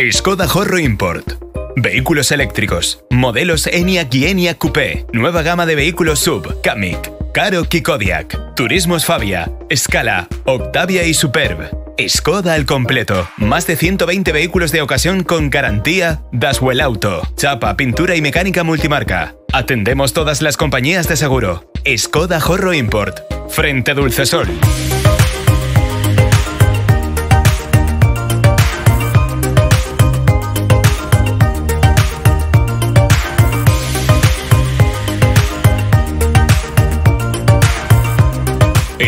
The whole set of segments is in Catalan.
Skoda Horro Import. Vehículos eléctricos. Modelos Enyaq y Enyaq Coupé. Nueva gama de vehículos SUV, Kamiq, Karoq y Kodiaq. Turismos Fabia, Scala, Octavia y Superb. Skoda al completo. Más de 120 vehículos de ocasión con garantía Daswell Auto. Chapa, pintura y mecánica multimarca. Atendemos todas las compañías de seguro. Skoda Horro Import. Frente Dulcesol.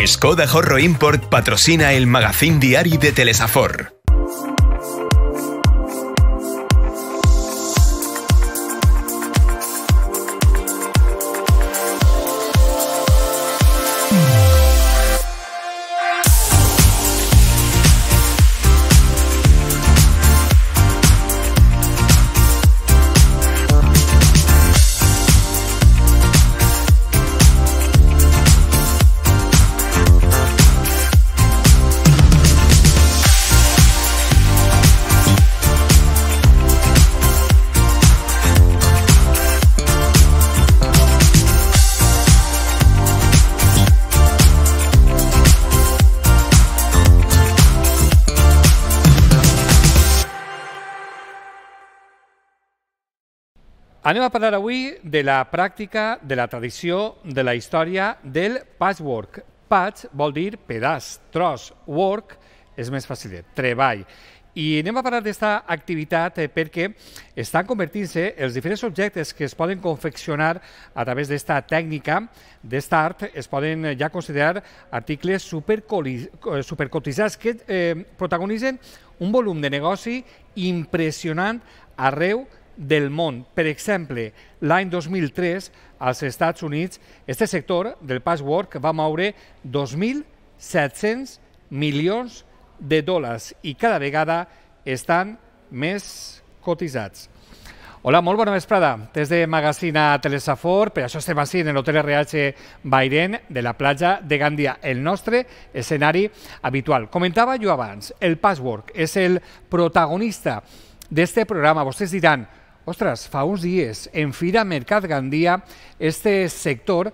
Skoda Horro Import patrocina el magazín diari de Telesafor. Anem a parlar avui de la pràctica, de la tradició, de la història del patchwork. Patch vol dir pedaç, tros, work és més fàcil, treball. I anem a parlar d'aquesta activitat perquè estan convertint-se els diferents objectes que es poden confeccionar a través d'esta tècnica, d'esta art, es poden ja considerar articles supercotitzats que protagonitzen un volum de negoci impressionant arreu del món. Per exemple, l'any 2003, als Estats Units, aquest sector del patchwork va moure 2.700 milions de dòlars i cada vegada estan més cotitzats. Hola, molt bona vesprada. Des de Magazín a Telesafor, per això estem així en l'Hotel RH Bairén de la platja de Gandia, el nostre escenari habitual. Comentava jo abans, el patchwork és el protagonista d'aquest programa. Vostès diran, ostres, fa uns dies, en Fira Mercat Gandia, este sector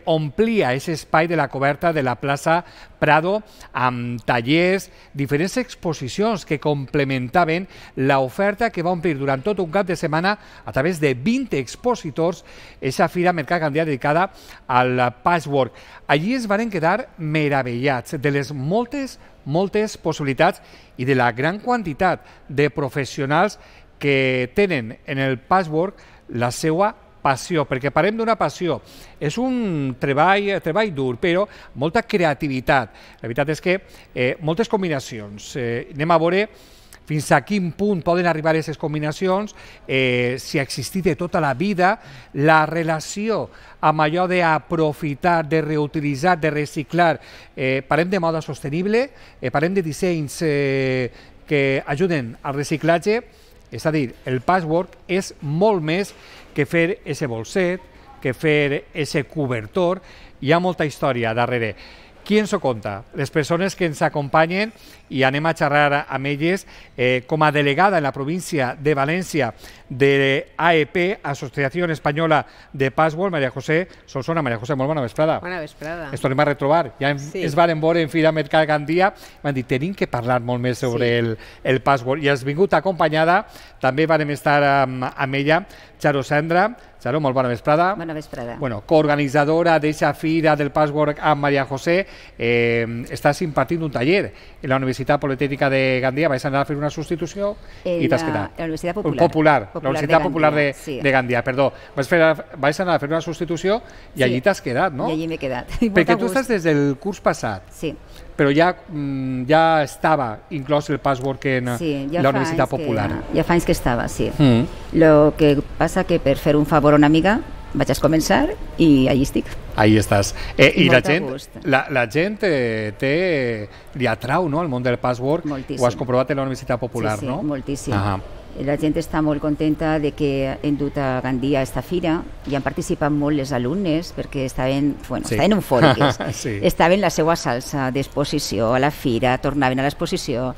omplia aquest espai de la coberta de la plaça Prado amb tallers, diferents exposicions que complementaven l'oferta que va omplir durant tot un cap de setmana a través de 20 expositors aquesta Fira Mercat Gandia dedicada al patchwork. Allí es van quedar meravellats de les moltes possibilitats i de la gran quantitat de professionals que tenen en el patchwork la seva passió, perquè parlem d'una passió. És un treball dur, però molta creativitat. La veritat és que moltes combinacions. Anem a veure fins a quin punt poden arribar aquestes combinacions, si ha existit de tota la vida, la relació amb allò d'aprofitar, de reutilitzar, de reciclar. Parlem de moda sostenible, parlem de dissenys que ajuden al reciclatge. És a dir, el patchwork és molt més que fer ese bolset, que fer ese cobertor. Hi ha molta història darrere. Qui ens ho conta? Les persones que ens acompanyen i anem a xerrar amb elles com a delegada en la província de València de AEP, Associació Espanyola de Patchwork, María José Solsona. María José, molt bona vesprada. Bona vesprada. Ens tornem a retrobar. Ja es varen veure en Fira Mercat Gandia. M'han dit, tenim que parlar molt més sobre el patchwork. I has vingut acompanyada, també vam estar amb ella, Charo Sendra. Charo, molt bona vesprada. Bona vesprada. Bueno, coorganitzadora d'aquesta Fira del Patchwork amb María José, estàs impartint un taller en la Universitat Politècnica de Gandia. Vais anar a fer una substitució i t'has quedat. La Universitat Popular. La Universitat Popular de Gandia, perdó. Vais anar a fer una substitució i allí t'has quedat, no? I allí m'he quedat. Perquè tu estàs des del curs passat. Sí. Però ja estava inclòs el patchwork en la Universitat Popular. Ja fa anys que estava, sí. Lo que passa que per fer un favor a una amiga vaig a començar i allí estic. Ahí estàs. I la gent li atrau, no?, el món del patchwork. Moltíssim. Ho has comprovat en la Universitat Popular, no? Sí, moltíssim. La gent està molt contenta de que hem dut a Gandia a esta fira i han participat molt les alumnes perquè estaven eufòriques. Sí. Estaven en la seva salsa d'exposició a la fira, tornaven a l'exposició,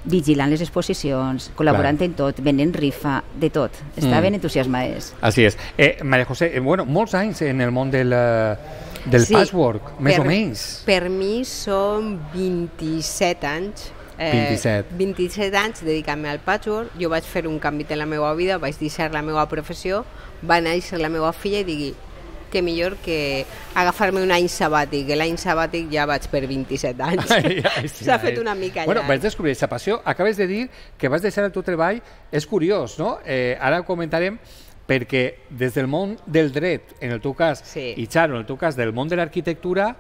vigilant les exposicions, col·laborant en tot, venent rifa, de tot. Estaven entusiasmades. Així és. Maria José, molts anys en el món del patchwork, més o menys. Per mi són 27 anys. 27 anys dedicant-me al patchwork. Jo vaig fer un canvi en la meva vida, vaig deixar la meva professió, va néixer la meva filla i digui que millor que agafar-me un any sabàtic, que l'any sabàtic ja vaig per 27 anys. S'ha fet una mica llarg. Vaig descobrir aquesta passió. Acabes de dir que vas deixar el teu treball. És curiós, no? Ara ho comentarem, perquè des del món del dret, en el teu cas, i Charo, en el teu cas, del món de l'arquitectura,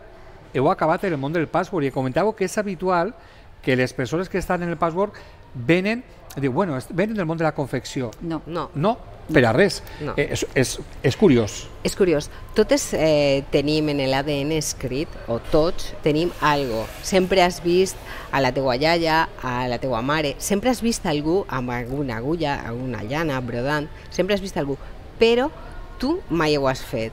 heu acabat en el món del patchwork i comentàveu que és habitual que les persones que estan en el patchwork venen del món de la confecció. No, per a res. No. És curiós. És curiós. Totes tenim en l'ADN escrit, o tots tenim algo. Sempre has vist a la teua iaia, a la teua mare, sempre has vist algú amb alguna agulla, alguna llana, brodant, sempre has vist algú, però tu mai ho has fet.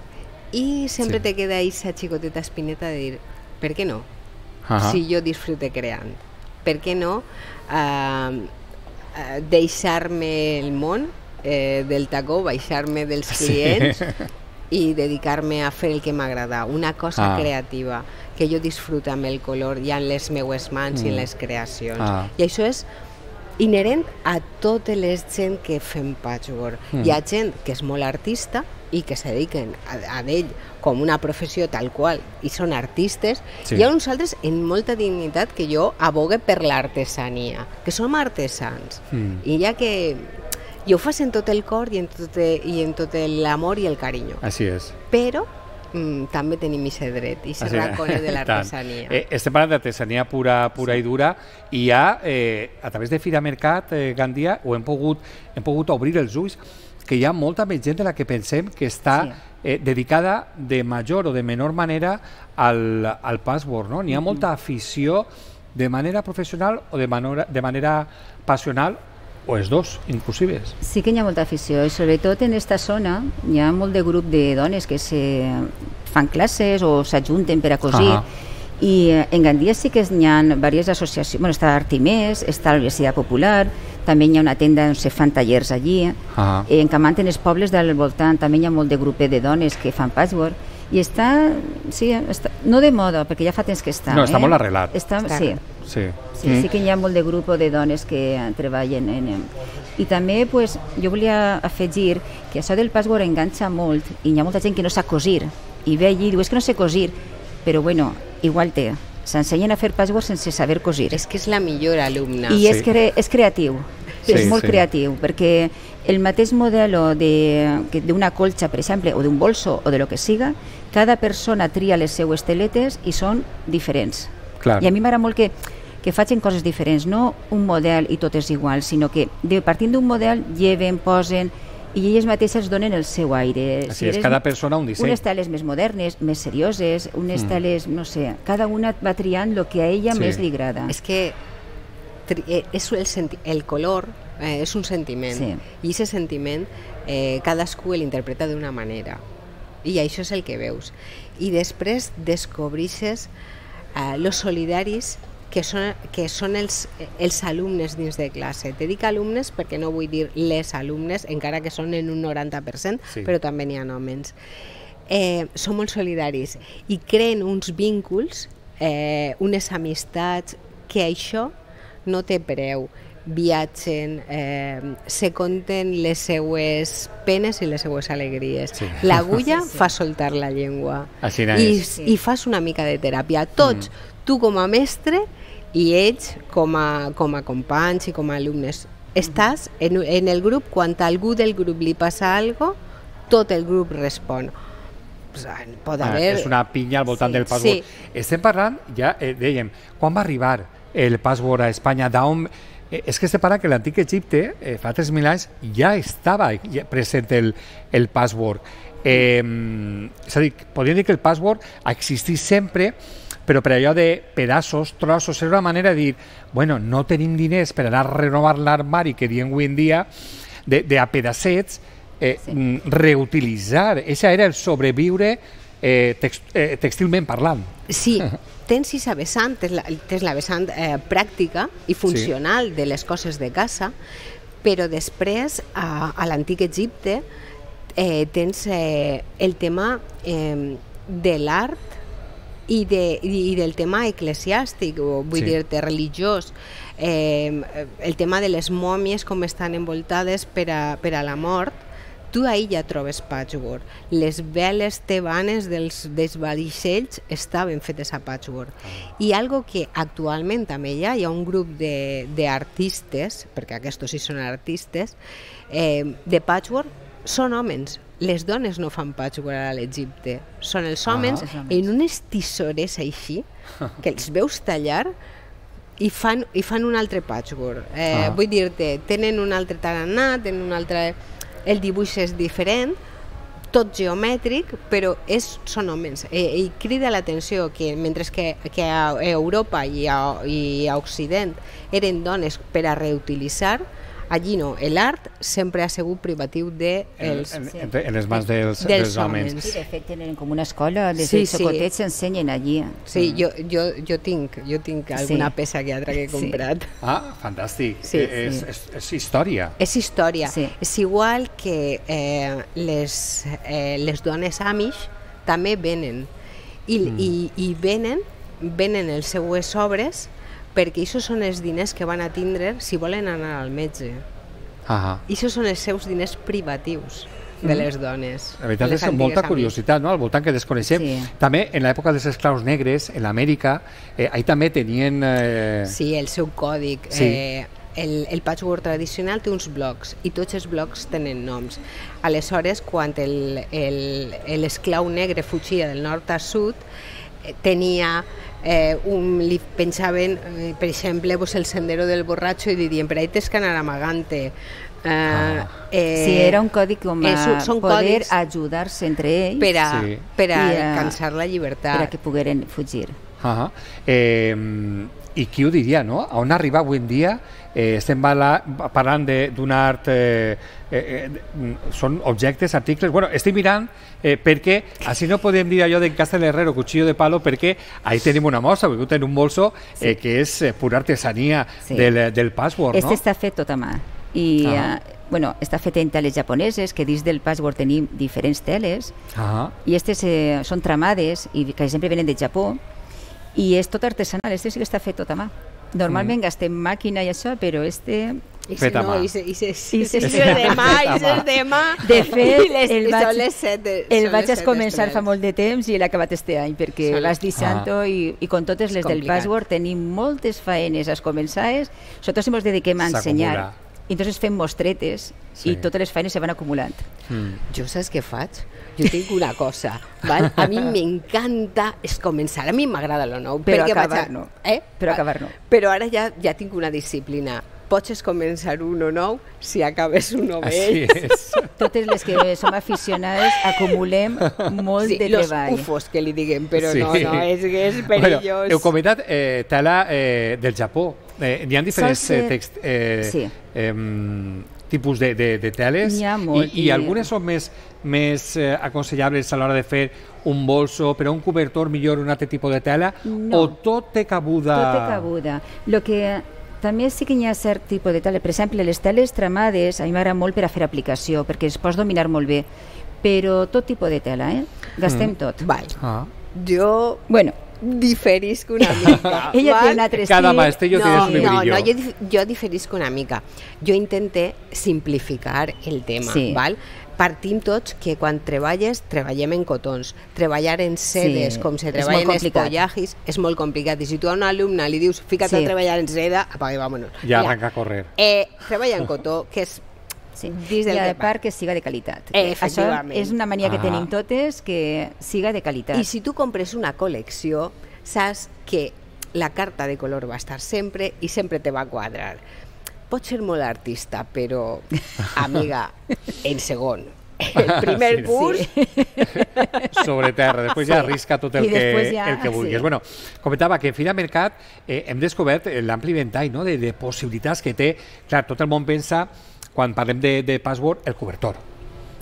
I sempre te queda aquesta xicoteta espineta de dir, per què no? Si jo disfrute creant. Per què no deixar-me el món del tacó, baixar-me dels clients i dedicar-me a fer el que m'agrada, una cosa creativa, que jo disfruto amb el color i en les meues mans i en les creacions. I això és inherent a totes les gent que fem patchwork. Hi ha gent que és molt artista i que se dediquen a ell com una professió tal qual i són artistes, hi ha uns altres en molta dignitat que jo abogue per l'artesania, que som artesans, i ja que ho fas en tot el cor i en tot l'amor i el carinyo. Així és. Però també tenim aquest dret, aquest racone de l'artesania. Estem parlant d'artesania pura i dura, i ja a través de Fira Mercat Gandia hem pogut obrir els ulls que hi ha molta més gent de la que pensem que està dedicada de major o de menor manera al patchwork, no? N'hi ha molta afició de manera professional o de manera passional, o els dos, inclusives. Sí que hi ha molta afició, i sobretot en aquesta zona hi ha molt de grup de dones que fan classes o s'ajunten per a cosir, i en Gandia sí que hi ha diverses associacions, està Artimés, està la Universitat Popular, també hi ha una tenda on se fan tallers allí, en Camant, en els pobles del voltant també hi ha molt de grup de dones que fan patchwork, i està, no de moda, perquè ja fa temps que està. No, està molt arrelat. Sí que hi ha molt de grup de dones que treballen i també jo volia afegir que això del patchwork enganxa molt i hi ha molta gent que no sap cosir i ve allí i diu, és que no sé cosir, però bueno, igual s'ensenyen a fer patchwork sense saber cosir. És que és la millor alumna. I és creatiu, és molt creatiu, perquè el mateix model d'una colxa, per exemple, o d'un bolso o de lo que siga, cada persona tria les seues teletes i són diferents. I a mi m'agrada molt que facin coses diferents, no un model i tot és igual, sinó que partint d'un model lleven, posen i elles mateixes donen el seu aire. Així és, cada persona un disseny. Unes teles més modernes, més serioses, unes teles, no sé, cada una va triant el que a ella més li agrada. És que el color és un sentiment, i aquest sentiment cadascú l'interpreta d'una manera, i això és el que veus. I després descobreixes los solidaris que són els alumnes dins de classe. Te dic alumnes perquè no vull dir les alumnes, encara que són en un 90%, però també n'hi ha homes. Són molt solidaris i creen uns vínculs, unes amistats, que això no té preu. Viatgen, se conten les seues penes i les seues alegries. L'agulla fa soltar la llengua i fas una mica de teràpia. Tots, tu com a mestre i ells com a companys i com a alumnes. Estàs en el grup, quan a algú del grup li passa alguna cosa, tot el grup respon. És una pinya al voltant del patchwork. Estem parlant, ja dèiem, quan va arribar el patchwork a Espanya? És que estem parlant que l'antic Egipte, fa 3.000 anys, ja estava present el patchwork. És a dir, podríem dir que el patchwork ha existit sempre, però per allò de pedaços, trossos, és una manera de dir, bueno, no tenim diners per anar a renovar l'armari que diem avui en dia, de a pedacets, reutilitzar. Això era el sobreviure textilment parlant. Sí, tens aquesta vessant, tens la vessant pràctica i funcional de les coses de casa, però després, a l'antic Egipte, tens el tema de l'art i del tema eclesiàstic, vull dir-te religiós, el tema de les mòmies com estan envoltades per a la mort. Tu ahir ja trobes patchwork. Les veles tebanes dels vaixells estaven fetes a patchwork. I algo que actualment també hi ha un grup d'artistes, perquè aquests sí són artistes, de patchwork, són homes. Les dones no fan patchwork a l'Egipte. Són els homes en unes tisores així, que els veus tallar i fan un altre patchwork. Vull dir-te, tenen un altre tarannà, tenen un altre... El dibuix és diferent, tot geomètric, però són homes. I crida l'atenció que mentre que a Europa i a Occident eren dones per a reutilitzar, allí no, l'art sempre ha sigut privatiu en les mans dels homes. Sí, de fet tenen com una escola, des dels xocotets s'ensenyen allí. Sí, jo tinc alguna peça que altra que he comprat. Ah, fantàstic. És història. És història. És igual que les dones Amish també venen i venen les seues obres perquè això són els diners que van a tindre si volen anar al metge. Això són els seus diners privatius de les dones. La veritat és molta curiositat, no?, al voltant que desconeixem. També, en l'època dels esclaus negres, en l'Amèrica, ahí també tenien... Sí, el seu còdic. El patchwork tradicional té uns blocs i tots els blocs tenen noms. Aleshores, quan l'esclau negre fugia del nord a sud, tenia... li pensaven, per exemple, el sendero del borratxo i dirien, per ahí tens que anar amagant-te. Sí, era un codi com a poder ajudar-se entre ells per a alcançar la llibertat. Per a que pogueren fugir. I qui ho diria, no? On arriba avui en dia? Estem parlant d'un art... Són objectes, articles... Bueno, estic mirant perquè així no podem dir allò d'en Casa del Herrero, cuchillo de palo, perquè ahí tenim una mostra, perquè tenim un bolso que és pura artesania del patchwork, no? Este està fet tot a mà. I està fet en teles japoneses, que dins del patchwork tenim diferents teles, i aquestes són tramades, i que sempre venen de Japó, i és tot artesanal, este sí que està fet tot a mà. Normalment gastem màquina i això, però este... Fet a mà. De fet, el vaig començar fa molt de temps i l'he acabat este any, perquè vas deixant-ho i com totes les del patchwork tenim moltes faenes començades, sobretot si ens dediquem a ensenyar. I entonces fem mostretes i totes les feines se van acumulant. Jo saps què faig? Jo tinc una cosa, val? A mi m'encanta començar, a mi m'agrada lo nou, però acabar no. Però ara ja tinc una disciplina. Pots començar uno nou si acabes uno vell. Totes les que som aficionades acumulem molt de treball. Los ufos, que li diguem, però no, és perillós. Heu comentat tela del Japó. N'hi ha diferents tipus de teles i algunes són més aconsellables a l'hora de fer un bolso, però un cobertor millor un altre tipus de tela, o tot té cabuda? Tot té cabuda. Lo que també sí que hi ha cert tipus de tela. Per exemple, les teles tramades a mi m'agrada molt per a fer aplicació, perquè es pots dominar molt bé, però tot tipus de tela, gastem tot. Jo diferisc una mica. Ella té un altre estil. Cada maestrillo tiene su librillo. Jo diferisc una mica. Jo intente simplificar el tema, val? Partim tots que quan treballem en cotons. Treballar en sedes, com se treballa en espollajis, és molt complicat. I si tu a un alumne li dius fica't a treballar en seda, apaga i vámonos. Ja arranca a correr. Treballa en cotó, que és... I a part que siga de qualitat. Això és una mania que tenim totes, que siga de qualitat. I si tu compres una col·lecció, saps que la carta de color va estar sempre i sempre te va quadrar. Pots ser molt artista, però, amiga, en segon. el primer curs. Sobre terra, després ja arrisca tot el que vulguis. Bueno, comentava que Fira Mercat hem descobert l'ampli ventall de possibilitats que té. Clar, tot el món pensa, quan parlem de Password, el cobertor.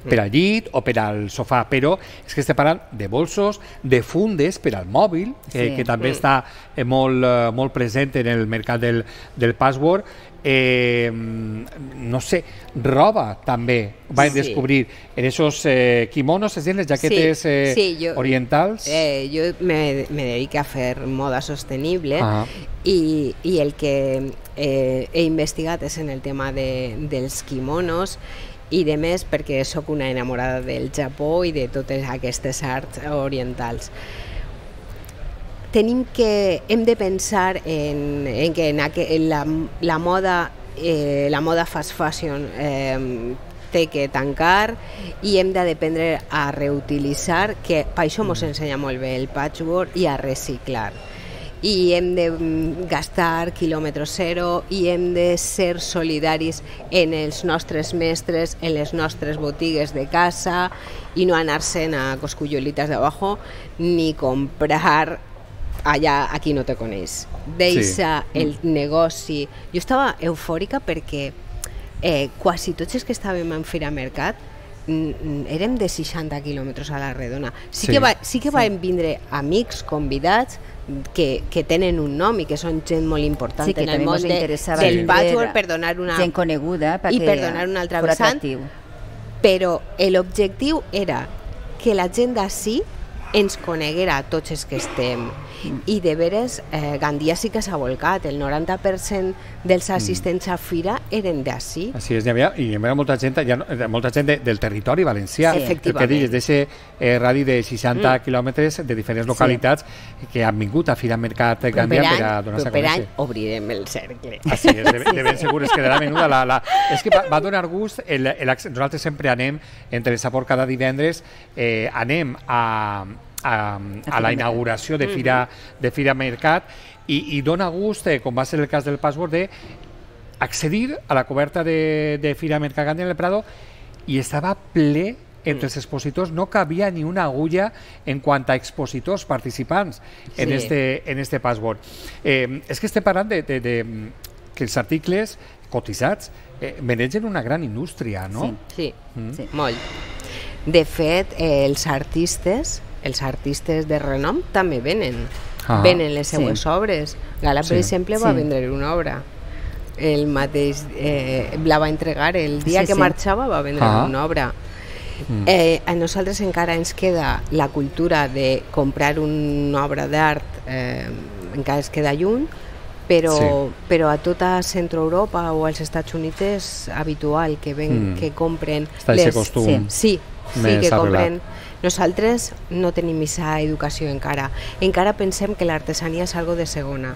Per al llit o per al sofà, però és que estem parlant de bolsos, de fundes per al mòbil, que també està molt present en el mercat del Password. No sé, roba també vam descobrir en esos kimonos, és a dir, les jaquetes orientals. Jo me dedico a fer moda sostenible i el que he investigat és en el tema dels kimonos i de més perquè sóc una enamorada del Japó i de totes aquestes arts orientals. Hem de pensar en que la moda fast fashion té que tancar i hem d'aprendre a reutilitzar, que per això ens ensenya molt bé el patchwork, i a reciclar. I hem de gastar quilòmetre zero i hem de ser solidaris en els nostres mestres, en les nostres botigues de casa i no anar-se'n a coscullolitas de abajo ni comprar allà a qui no te coneix. Deixa el negoci. Jo estava eufòrica perquè quasi tots els que estàvem en Fira Mercat érem de 60 quilòmetres a la redona. Sí que van vindre amics convidats que tenen un nom i que són gent molt important en el món del patchwork, per donar una gent coneguda i per donar un altre vessant, però l'objectiu era que la gent d'ací ens coneguera a tots els que estem. I de veres, Gandia sí que s'ha volcat. El 90% dels assistents a Fira eren d'ací. Així és, hi havia molta gent del territori valencià. Efectivament. El que digues, d'aquest radi de 60 quilòmetres de diferents localitats que han vingut a Fira Mercat Gandia per a donar-se a conèixer. Proper any obrirem el cercle. Així és, de ben segur, es quedarà menuda. És que va donar gust. Nosaltres sempre anem, entre el Sabor cada divendres, anem a la inauguració de Fira Mercat i dona gust, com va ser el cas del Password, d'accedir a la coberta de Fira Mercat Gandia en el Prado i estava ple entre els expositors, no cabia ni una agulla en quant a expositors participants en este Password. És que estem parlant de que els articles cotitzats manegen una gran indústria, no? Sí, molt. De fet, els artistes de renom també venen les seues obres. Gala, per exemple, va vendre una obra. El mateix la va entregar el dia que marxava, va vendre una obra. A nosaltres encara ens queda la cultura de comprar una obra d'art, encara ens queda lluny, però a tota Centroeuropa o als Estats Units és habitual que compren que compren. Nosaltres no tenim aquesta educació encara. Encara pensem que l'artesania és algo de segona.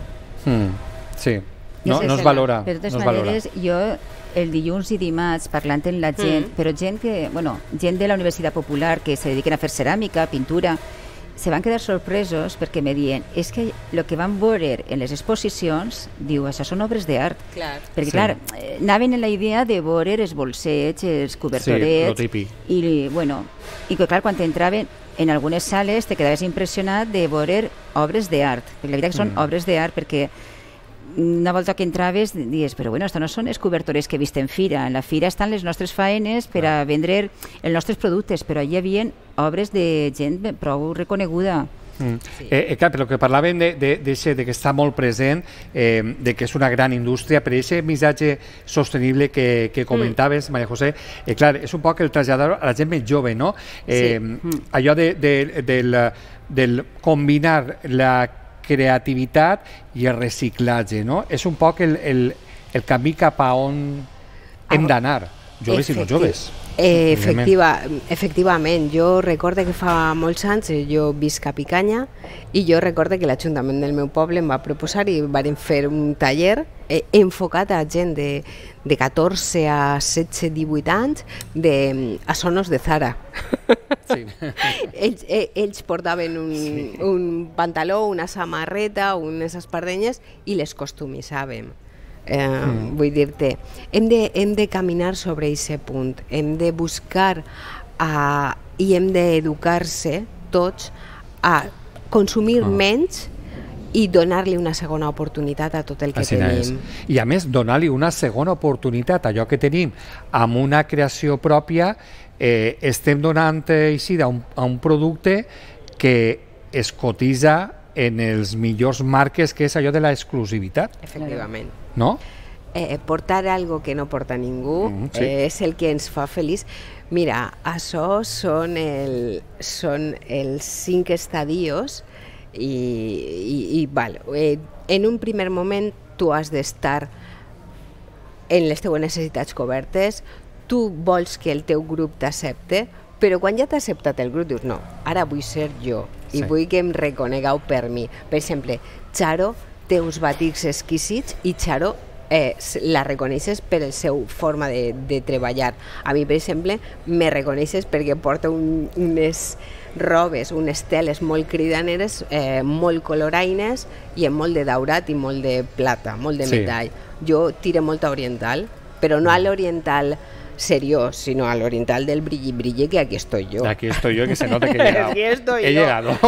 Sí, no es valora. De totes maneres, jo el dilluns i dimarts parlant amb la gent, però gent de la Universitat Popular que se dediquen a fer ceràmica, pintura, se van quedar sorpresos perquè me diuen és que el que van veure en les exposicions, diu, això són obres d'art. Perquè, clar, anaven en la idea de veure els bolsets, els cobertorets, i que, clar, quan entraven en algunes sales te quedaves impressionat de veure obres d'art. Perquè la veritat que són obres d'art, perquè una volta que entraves dius, però bueno, això no són els cobertores que he vist en Fira. En la Fira estan les nostres faenes per a vendre els nostres productes, però hi havia obres de gent prou reconeguda. Clar, però que parlaven de que està molt present, de que és una gran indústria, per aquest missatge sostenible que comentaves, Maria José, clar, és un poc el traslladar a la gent més jove, no? Allò del combinar la creativitat i el reciclatge, no? És un poc el camí cap a on hem d'anar, joves i no joves. Efectivament, jo recordo que fa molts anys jo visc a Picanya i jo recordo que l'Ajuntament del meu poble em va proposar i vam fer un taller enfocat a gent de 14 a 16, 18 anys a sonos de Zara. Ells portaven un pantaló, una samarreta, unes espardenyes i les costumitzàvem. Vull dir-te, hem de caminar sobre aquest punt, hem de buscar i hem d'educar-se tots a consumir menys i donar-li una segona oportunitat a tot el que tenim. I a més, donar-li una segona oportunitat a allò que tenim amb una creació pròpia, estem donant eixida a un producte que es cotitza en els millors marques, que és allò de l'exclusivitat. Efectivament. No? Portar algo que no porta ningú és el que ens fa feliç. Mira, això són els 5 estadios i en un primer moment tu has d'estar en les teves necessitats cobertes, tu vols que el teu grup t'accepte, però quan ja t'ha acceptat el grup dius no, ara vull ser jo i vull que em reconegueu per mi. Per exemple, Charo té uns batics exquisits i Charo la reconeixes per la seva forma de treballar. A mi, per exemple, me reconeixes perquè porta unes robes, unes teles molt cridaneres, molt coloraines i amb molt de daurat i molt de plata, molt de metall. Jo tiro molt a oriental, però no a l'oriental seriós, sino al oriental del brilli, que aquí estoy yo. Aquí estoy yo, que se nota que he llegado. Aquí estoy he llegado.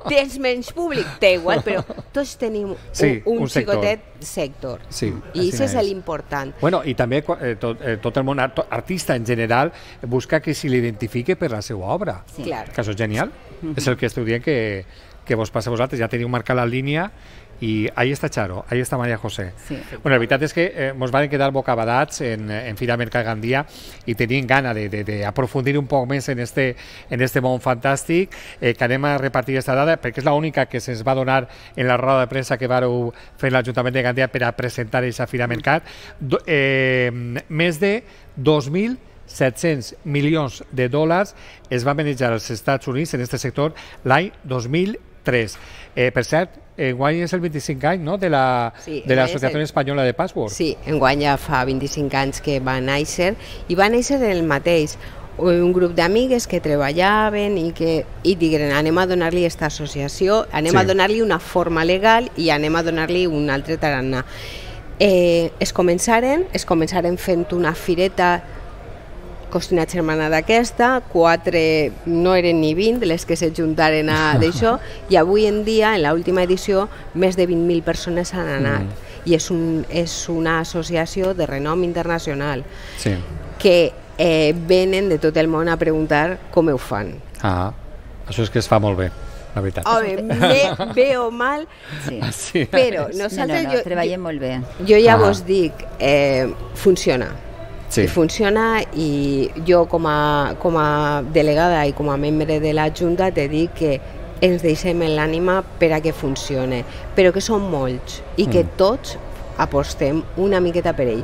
Tens menys públic? Té igual, però tots tenim un xicotet sector. Sí, i això és l'important. Bueno, i també tot el món artista en general busca que se l'identifique per la seva obra. Sí. Clar. Que això és genial. És el que esteu dient que vos passa a vosaltres. Ja teniu marcat la línia i ahí està Charo, ahí està María José. Sí. Bueno, la veritat és que ens van quedar bocabadats en Fira Mercat Gandia i tenim gana d'aprofundir un poc més en este món fantàstic, que anem a repartir aquesta dada perquè és l'única que se'ns va donar en la roda de premsa que vareu fer l'Ajuntament de Gandia per a presentar aquesta Fira Mercat. Més de 2.700 milions de dòlars es van manejar als Estats Units en aquest sector l'any 2003. Per cert, enguany és el 25 any, no?, de l'Associació Espanyola de Patchwork. Sí, enguany ja fa 25 anys que va néixer, i va néixer el mateix, un grup d'amigues que treballaven i digueren anem a donar-li aquesta associació, anem a donar-li una forma legal i anem a donar-li un altre tarannà. Es començaren fent una fireta costa una germana d'aquesta, 4 no eren ni 20 les que s'ajuntaren a d'això, i avui en dia, en l'última edició, més de 20.000 persones han anat. I és una associació de renom internacional que venen de tot el món a preguntar com ho fan. Això és que es fa molt bé, la veritat. Home, bé o mal, però nosaltres... No, treballem molt bé. Jo ja vos dic, funciona. I funciona, i jo com a delegada i com a membre de la Junta te dic que ens deixem en l'ànima per a que funcione, però que són molts i que tots apostem una miqueta per ell.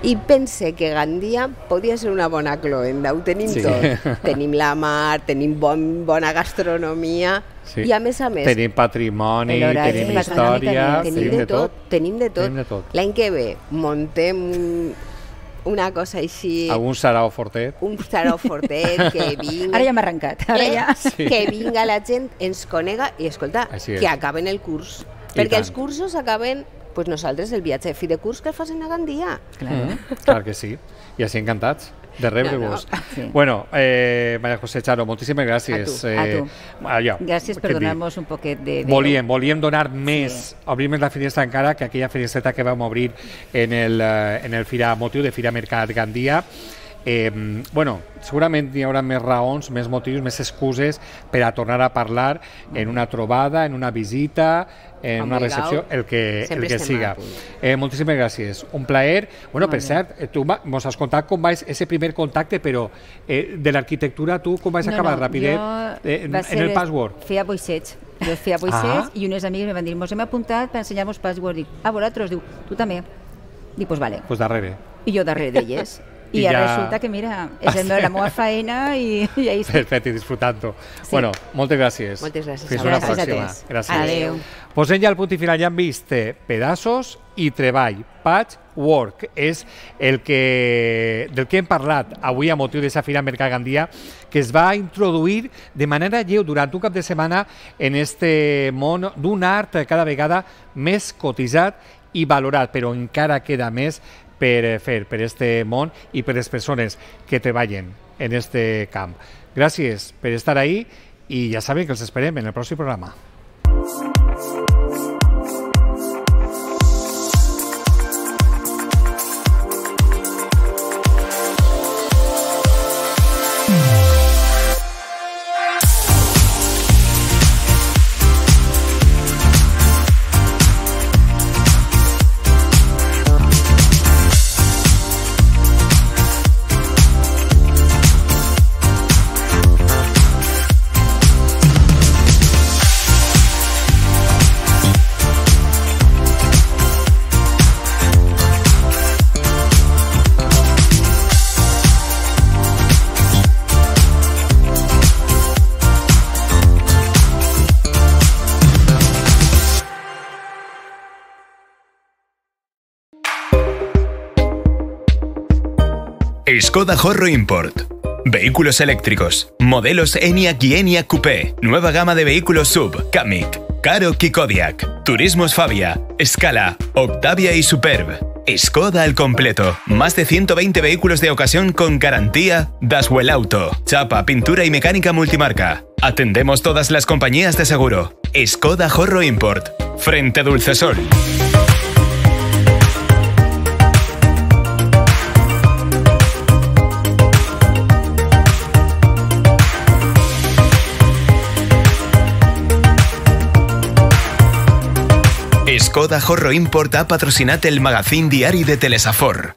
I pense que Gandia podria ser una bona cloenda, ho tenim tot. Tenim la mar, tenim bona gastronomia i a més... Tenim patrimoni, tenim història, tenim de tot. L'any que ve montem una cosa així... Algun sarau fortet. Un sarau fortet, que vinga... Ara ja m'ha arrencat. Que vinga la gent, ens conega i, escolta, que acaben el curs. Perquè els cursos acaben, doncs nosaltres, el viatge de fi de curs que el facin a Gandia. Clar que sí. I així encantats de rebre-vos. Bueno, María José, Charo, moltíssimes gràcies. A tu. Gràcies per donar-nos un poquet de... Volíem donar més, obrir més la finestra encara que aquella finestreta que vam obrir en el motiu de Fira Mercat Gandia. Bueno, segurament hi haurà més raons, més motius, més excuses per a tornar a parlar en una trobada, en una visita, en una recepció, el que siga. Moltíssimes gràcies. Un plaer. Bueno, per cert, tu mos has contat com va ese primer contacte, però de l'arquitectura tu com vas acabar rapidet en el Patchwork? Feia boixets. Jo feia boixets i unes amigues em van dir, mos hem apuntat per ensenyar-vos Patchwork. Dic, vosaltres? Diu, tu també. Dic, pues vale. Pues darrere. I jo darrere d'elles. I ara resulta que, mira, és la meva feina i ahí sí. Perfecte, disfrutant-ho. Bueno, moltes gràcies. Moltes gràcies. Fins una pròxima. Gràcies. Adéu. Posem ja el punt i final, ja hem vist pedaços i treball. Patchwork és del que hem parlat avui a motiu d'aquesta Fira Mercat Gandia, que es va introduir de manera lleu durant un cap de setmana en este món d'un art cada vegada més cotitzat i valorat, però encara queda més per fer per este món i per les persones que treballen en este camp. Gràcies per estar ahí i ja saben que els esperem en el pròxim programa. Skoda Horro Import. Vehículos eléctricos. Modelos Enyaq y Enyaq Coupé. Nueva gama de vehículos SUV. Kamiq, Karoq y Kodiaq. Turismos Fabia, Scala, Octavia y Superb. Skoda al completo. Más de 120 vehículos de ocasión con garantía Daswell Auto. Chapa, pintura y mecánica multimarca. Atendemos todas las compañías de seguro. Skoda Horro Import. Frente Dulcesol. Skoda Horro Import ha patrocinat el magazín diari de Telesafor.